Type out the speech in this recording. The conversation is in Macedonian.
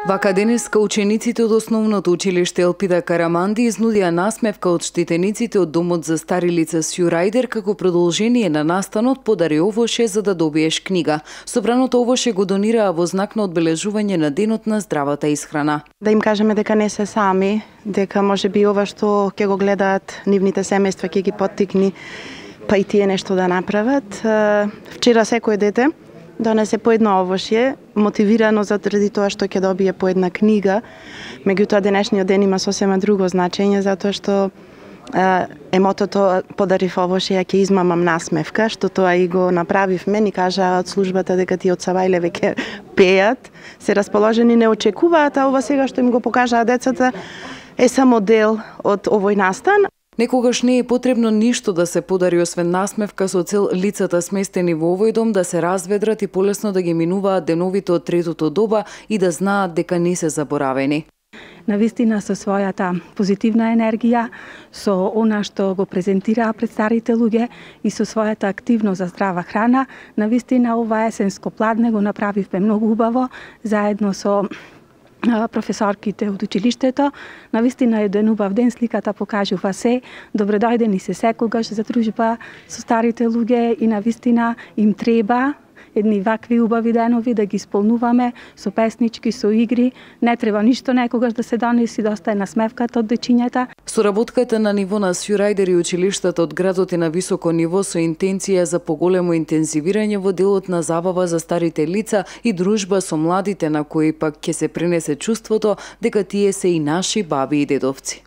Вака денеска учениците од основното училиште Елпида Караманди изнудија насмевка од штитениците од домот за стари лица Сјурајдер како продолжение на настанот подари овоше за да добиеш книга. Собраното овоше го донираа во знак на одбележување на денот на здравата исхрана. Да им кажеме дека не се сами, дека можеби ова што ќе го гледаат нивните семејства ќе ги поттикни па и тие нешто да направат. Вчера секој дете донесе по едно овошје, мотивирано заради тоа што ќе добие по една книга. Меѓутоа денешниот ден има сосема друго значење, затоа што емотото подарив овошје, ќе измамам насмевка, што тоа и го направивме. Ни кажаа од службата дека тие од Савајле веќе пеат, се расположени, не очекуваат, а ова сега што им го покажаа децата е само дел од овој настан. Некогаш не е потребно ништо да се подари освен насмевка со цел лицата сместени во овој дом да се разведрат и полесно да ги минуваат деновите од третото доба и да знаат дека не се заборавени. Навистина со својата позитивна енергија, со она што го презентираа пред старите луѓе и со својата активност за здрава храна, навистина ова есенско пладне го направивме многу убаво заедно со професорките од училиштето. Навистина е убав ден, сликата покажува се. Добре дојдени се секогаш за дружба со старите луѓе и навистина им треба едни вакви убави денови да ги исполнуваме со песнички, со игри. Не треба ништо некогаш да се донеси, доста е насмевката од дечињата. Соработката на ниво на Сјурајдер и училиштата од градот е на високо ниво со интенција за поголемо интензивирање во делот на забава за старите лица и дружба со младите на кои пак ќе се пренесе чувството дека тие се и наши баби и дедовци.